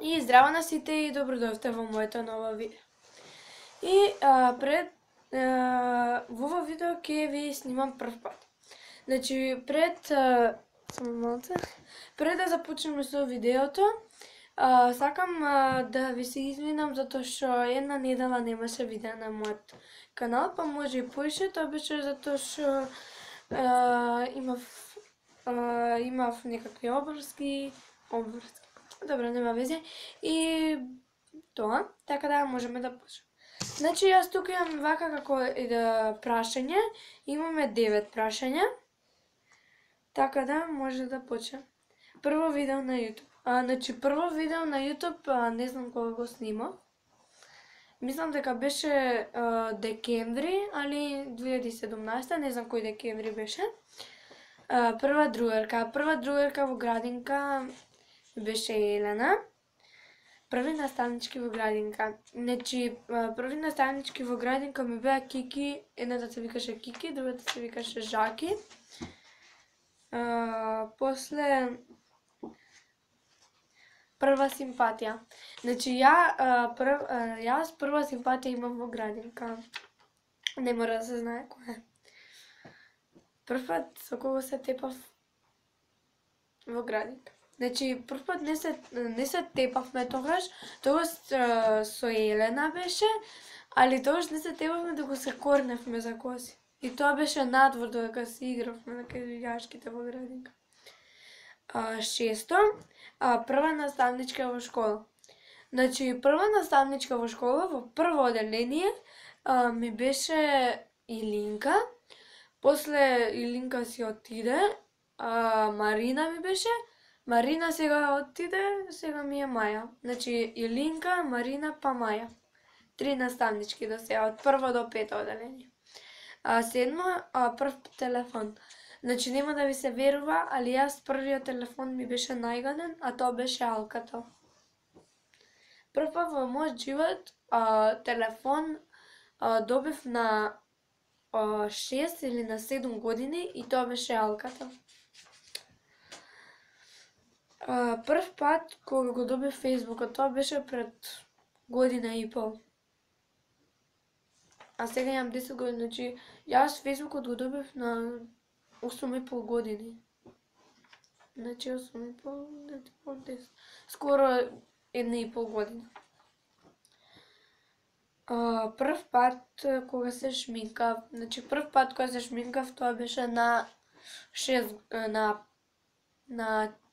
И здраво на сите и добродојавте во моето ново видео. И во ова видео ќе ви снимам прв пат. Значи, пред да започнеме со видеото, сакам да ви се извинам затоа што една недела немаше видео на мојот канал, па може и поише, тоа беше затоа што имав некакви обврски. Добро, нема везе. И тоа, така да можеме да почнеме. Значи, јас тука имам вака како прашање. Имаме 9 прашања. Така да може да почнеме. Прво видео на YouTube. Значи, прво видео на YouTube, не знам кога го снимав. Мислам дека беше декември, али 2017, не знам кој декември беше. Прва другарка во градинка беше Елена. Први наставнички во градинка. Значи, први наставнички во градинка ми беа Кики, едната се викаше Кики, другата се викаше Жаки. После прва симпатија. Значи, јас прва симпатија имам во градинка. Не мора да се знае која е. Прв пат со кого се тепав во градинка. Значи, прв пат не се тепавме тогаш со Елена беше, али тогаш не се тепавме, докато се корневме за коси. И тоа беше надвор, додека се игравме на јашките во градинка. Шесто, прва наставничка во школа. Значи, прва наставничка во школа, во прво оделение, ми беше Илинка. После Илинка си отиде, Марина ми беше. Марина сега отиде, сега ми е Маја. Значи, Илинка, Марина, па Маја. 3 наставнички до сега, од прво до пето оделение. Седмо, прв телефон. Значи, нема да ви се верува, али јас првиот телефон ми беше најгаден, а тоа беше Алкател. Прв пат во мојот живот телефон добив на 6 или на 7 години и тоа беше Алкател. Прв пат кога го добив Фејсбукот, тоа беше пред година и пол. А сега имам 10 години, значи јас Фејсбукот го добив на 8,5 години. Значи 8,5, 10, скоро 1,5 година. Прв пат кога се шминкав, значи прв пат кога се шминкав, тоа беше на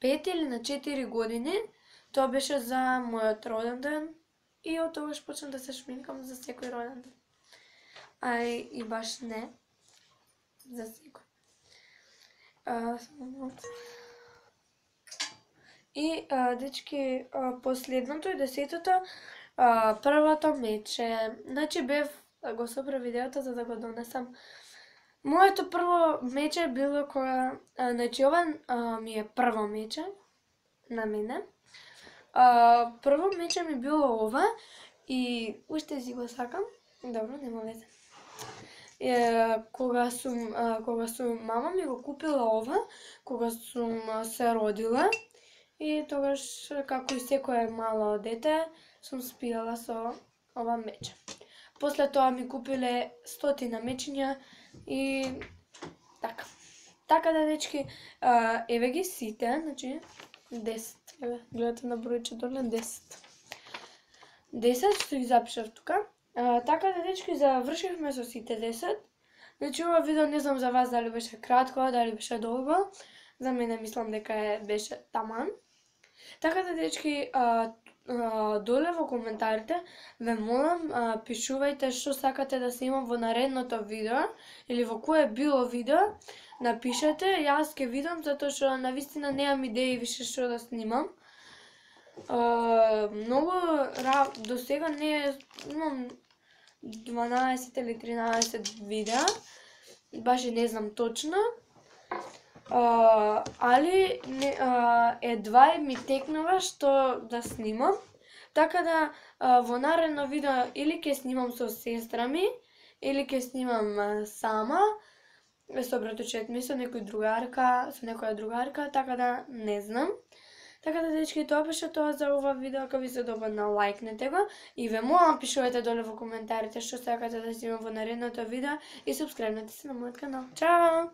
5 или на 4 години. Тоа беше за мојот роден ден и од тогаш почнав да се шминкам за секој роден ден. И баш не за секој. И дечки, последното и 10-тото, првото мече. Значи бев го собрав видеото за да го донесам. Моето прво мече било кога, значи ова ми е прво мече на мене. Прво мече ми било ова и уште си го сакам. Добро, нема везе. Кога сум мама ми го купила ова, кога сум се родила и тогаш, како и секое мало дете, сум спијала со ова мече. После тоа ми купиле 100 мечиња и така. Така да, дечки, еве ги сите, значи 10. Еве, гледате на бројче доле 10. 10 што ги запишав тука. Така да, дечки, завршивме со сите 10. Значи, ова видео не знам за вас дали беше кратко, дали беше долго. За мене мислам дека беше таман. Така да, дечки, доле во коментарите ве молам, пишувајте што сакате да снимам во наредното видео или во кое било видео, напишете, јас ќе видам затоа што навистина немам идеи више што да снимам. Многу до сега имам 12 или 13 видеа, баш и не знам точно, али едва ми текнува што да снимам, така да во наредно видео или ќе снимам со сестра ми, или ќе снимам сама, со братучет ми, со некоја другарка, така да не знам. Така да дечки, тоа беше тоа за ова видео. Ако ви се допадна, лајкнете го и ве молам пишувате доле во коментарите што сакате да снимам во наредното видео и субскрајбнете се на мојот канал. Чао!